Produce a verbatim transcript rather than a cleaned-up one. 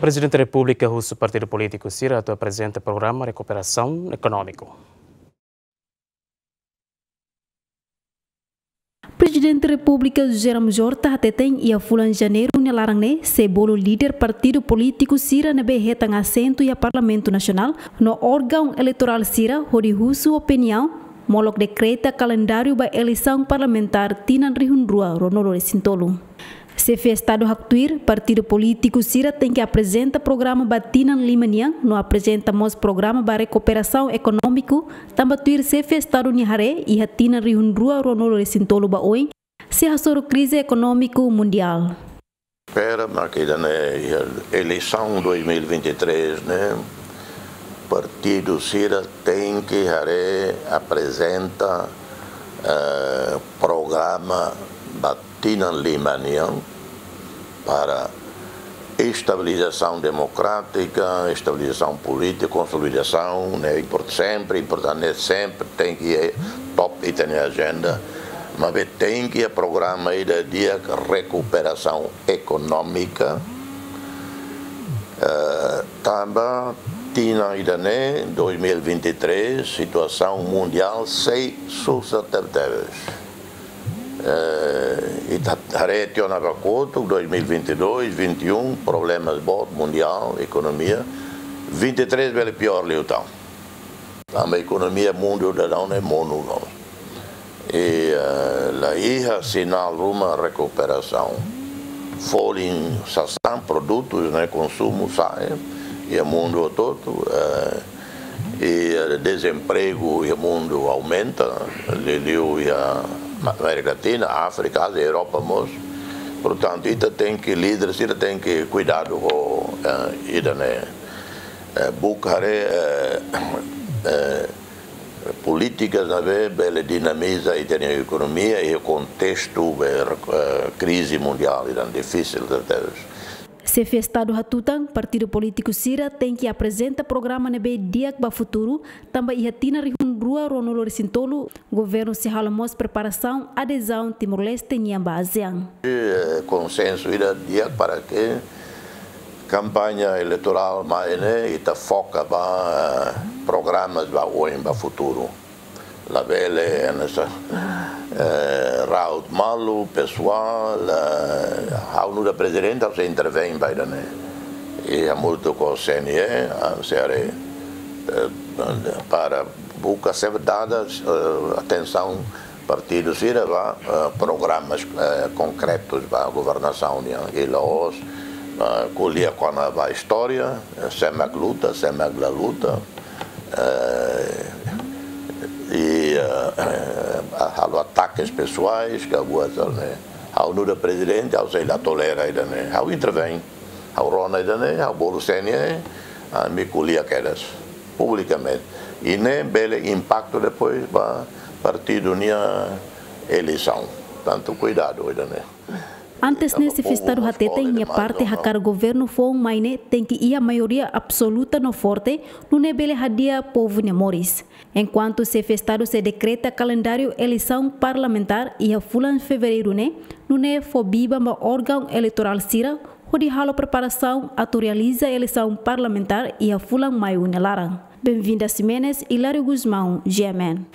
Prezidente Repúblika husu partidu polítiku sira atu aprezenta programa rekuperasaun ekonómiku. Prezidente Repúblika José Ramos Horta hateten iha fulan Janeiru nia laran ne'e sei bolu líder partidu polítiku sira ne'ebé hetan asentu iha Parlamentu Nasionál no órgaun eleitorál sira hodi husu opiniaun molok dekreta kalendáriu ba eleisaun parlamentár tinan rihun rua ruanulu-resin-tolu. Xefe Estadu haktuir, partidu polítiku sira tenke aprezenta programa ba tinan lima nian no aprezenta mós programa ba rekuperasaun ekonómiku, tanba tuir Xefe Estadu nia haree iha tinan rihun rua ruanulu-resin-tolu ba oin sei hasoru krize ekonómiku mundiál. Espera, mas ke ida-ne'e iha eleisaun dois mil e vinte e três ne'e, partidu sira tenke haree aprezenta, eh, programa ba tinan lima nian para estabilizasaun demokrátika, estabilizasaun polítika, konsolidasaun, ne'e import-, sempre importante, ne'e sempre tenke iha top ita-nia ajenda, maibé tenke iha programa ida di'ak rekuperasaun ekonómika, eh, tanba tinan ida-ne'e, dois mil e vinte e três, situasaun mundiál sei susar tebetebes. Eh, ita haree tiha ona ba kotuk, dois mil e vinte e dois, vinte e um, problemas boot mundiál, ekonomia. Vinte e três bele piór liután. Tanba ekonomia mundu daudaun ne'e monu no. I, eh, la iha sinál ruma rekuperasaun. Folin sasán, produtus ne'e konsumu sa'e iha mundu hotu-hotu, eh, i, eh, dezempregu iha mundu aumenta, liuliu iha Amérika Latina, Áfrika, Ázia, Europa mós. Portantu, ita tenke, líder sira tenke kuidadu ho, eh, ida-ne'e. Eh, buka haree, eh, eh, polítikas ne'ebé bele dinamiza ita-nia ekonomia iha kontestu be, eh, krize mundiál ida difisil tebes. Xefe Estadu hatutan, partidu polítiku sira tenke aprezenta programa ne'ebé di'ak ba futuru, tanba iha tinan rihun rua ruanulu-resin-tolu, governu sei halo mós preparasaun adezaun Timor-Leste nian ba ASEAN. Eh, konsensu ida di'ak para ke kampaña eleitorál mai ne'e ita foka ba, eh, programas ba oin, ba futuru. Labele hanesan, eh, raut malu pesoál, eh, ha'u nu'udar prezidente ha'u sei intervein ba ida-ne'e. I hamutuk ho C N E, ah, sei haree, eh, para buka sempre dada, eh, atensaun partidu sira ba, eh, programas, eh, konkretus ba governasaun nian. I la'ós, eh, ko'alia kona-ba istória, eh, sé mak luta, sé mak la luta, eh, i, eh, eh, halo atakes pesoais, ka buat sira-ne'e. Ha'u nu'udar prezidente, ha'u sei la tolera ida-ne'e. Ha'u intervein, ha'u rona ida-ne'e, ha'u bolu C N E, ami ko'alia kedas publikamente. I ne'e bele impaktu depois ba partidu nia eleisaun. Portantu, kuidadu ida-ne'e. Antes ne'e, Xefe Estadu hateten nia parte hakarak governu foun mai ne'e tenke iha maioria absoluta no forte, nune'e bele hadi'a povu nia moris. Enkuantu Xefe Estadu sei dekreta kalendáriu eleisaun parlamentár iha fulan Fevereiru ne'e, nune'e fó biban ba órgaun eleitorál sira hodi halo preparasaun atu realiza eleisaun parlamentár iha fulan Maiu nia laran. Benvinda Ximenes, Hilário Gusmão, G M N.